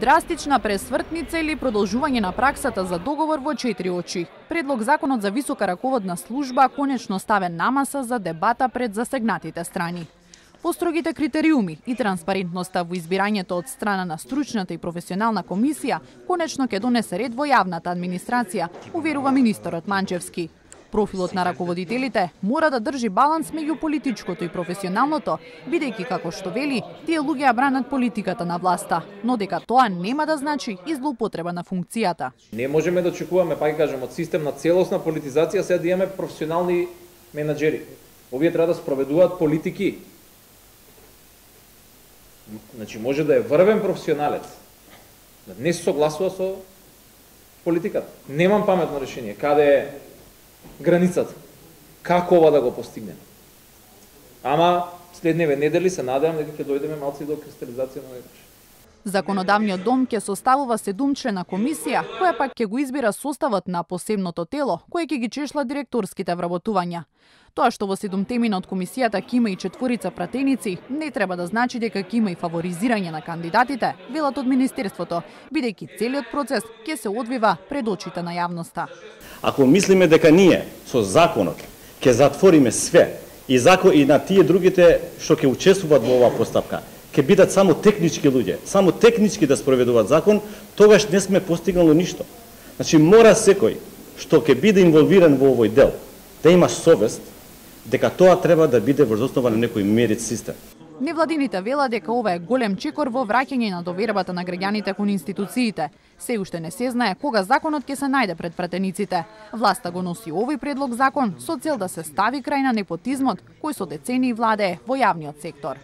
Драстична пресвртница или продолжување на праксата за договор во 4 очи. Предлог законот за висока раководна служба конечно ставен на маса за дебата пред засегнатите страни. Построгите критериуми и транспарентноста во избирањето од страна на стручната и професионална комисија конечно ќе донесе ред во јавната администрација, уверува министерот Манчевски. Профилот на раководителите мора да држи баланс меѓу политичкото и професионалното, бидејќи како што вели, тие луѓе ја бранат политиката на власта, но дека тоа нема да значи и злоупотреба на функцијата. Не можеме да очекуваме, пак кажам, од систем на целосна политизација сега да имаме професионални менаџери. Овие треба да спроведуваат политики. Значи може да е врвен професионалец, да не се согласува со политиката. Немам паметно решение. Каде е границата? Како ова да го постигнеме? Ама следневе недели се надевам дека ќе дојдеме малку до кристализација на овој. Законодавниот дом ќе составува 7-члена комисија, која пак ќе го избира составот на посебното тело, кое ќе ги чешла директорските вработувања. Тоа што во 7-темина од комисијата ќе има и 4 пратеници, не треба да значи дека ќе има и фаворизирање на кандидатите, велат од министерството, бидејќи целиот процес ќе се одвива пред очите на јавноста. Ако мислиме дека ние со законот ќе затвориме све и на тие другите што ќе учествуваат во оваа постапка, ќе бидат само технички луѓе, само технички да спроведуваат закон, тогаш не сме постигнали ништо. Значи мора секој што ќе биде инволвиран во овој дел да има совест дека тоа треба да биде врз основа на некој мерит систем. Невладините велат дека ова е голем чекор во враќање на довербата на граѓаните кон институциите. Се уште не се знае кога законот ќе се најде пред пратениците. Власта го носи овој предлог закон со цел да се стави крај на непотизмот кој со децении владее во јавниот сектор.